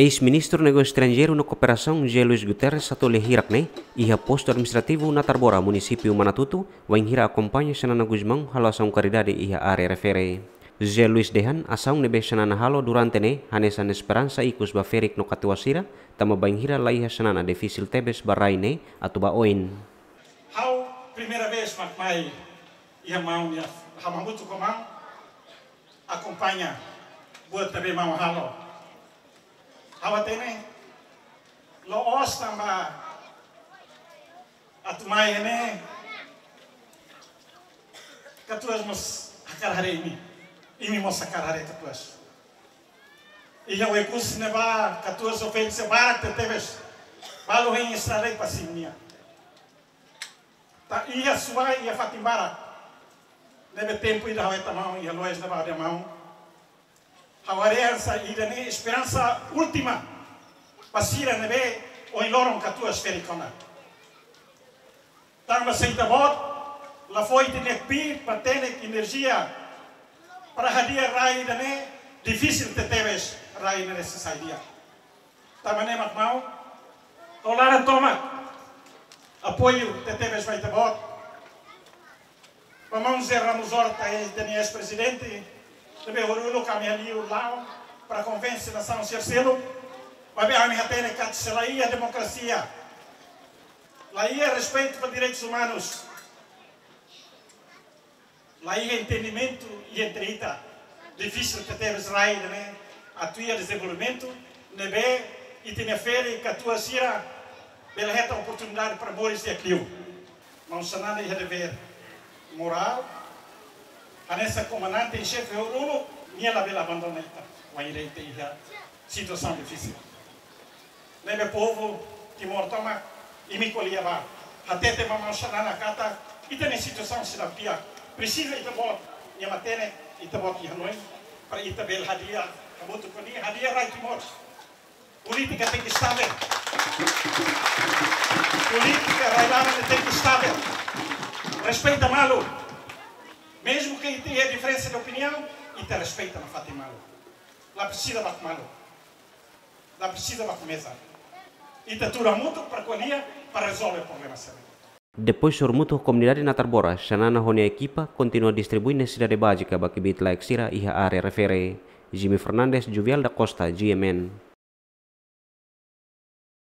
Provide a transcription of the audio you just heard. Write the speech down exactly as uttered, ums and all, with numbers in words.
Eis-Ministru Negósiu Estranjeiru no Kooperasaun, José Luís Guterres, hato'o lia hirak ne'e iha postu administrativu Natarbora, munisípiu Manatuto, wainhira akompaña Xanana Gusmão halo asaun karidade iha área refere. José Luís dehan asaun ne'ebé Xanana halo durante ne'e hanesan esperansa ikus ba ferik no katuas sira, tanba bainhira laiha Xanana difisil tebes ba rai ne'e atu ba oin. Ha'u primeira vez mak mai iha maun nia, ha'u hamutuk ho maun akompaña buat ne'ebé maun halo. Ha'u hatene la'ós tanba atu mai ne'e katuas mós hakarak haree imi, imi mós hakarak haree katuas. Iha Oekusi ne'ebá katuas oferese barak tebes, balu hein estrada ba sira-nia. Tanba iha Suai, iha fatin barak, ne'ebé tempu ida ha'u hetan maun iha loja ne'ebá dehan maun, ha'u haree hanesan ida-ne'e esperansa última ba sira ne'ebé ohin loron katuas ferik ona. Tanba se ita-boot la fó ita-nia kbiit, matenek, enerjia para hadi'a rai ida-ne'e, difisil tebetebes rai ne'e sei sai di'ak. Tanba ne'e mak maun, ha'u laran tomak apoiu tebetebes ba ita-boot. Ba maun José Ramos Horta, eis, ita-nia eis-prezidente, ne'ebé ohin loron ami hala'o para konvense nasaun sira seluk, maibé ami hatene katak se laiha demokrasia, laiha respeitu ba direitus umanus, laiha entendimentu entre ita, difisil tebetebes rai ida-ne'e atu iha dezenvolvimentu ne'ebé ita-nia ferik, katuas sira bele hetan oportunidade para moris di'ak liu. Maun Xanana iha devér morál, hanesan komandante-em-xefe uluk, nia labele abandona ita wainhira ita iha situasaun difisil. Ne'ebé povu Timor tomak, imi ko'alia bá, hatete ba maun Xanana katak ita-nia situasaun seidauk di'ak, presiza ita-boot nia matenek, ita-boot nia hanoin, para ita bele hadi'a hamutuk ho nia, hadi'a rai Timor. Polítika tenke estável. Polítika rai-laran tenke estável. Respeita malu. Mezmu ke ita iha diferensa de opiniaun, ita respeita nafatin malu. La presiza bate malu. La presiza bate meza. Ita tuur hamutuk para ko'alia, para rezolve problema sira-ne'e. Depois sorumutu ho komunidade Natarbora, Xanana ho nia ekipa kontinua distribui nesesidade bázika ba kbiit-laek sira iha área refere. Jimmy Fernandes, Juvial da Costa, G M N.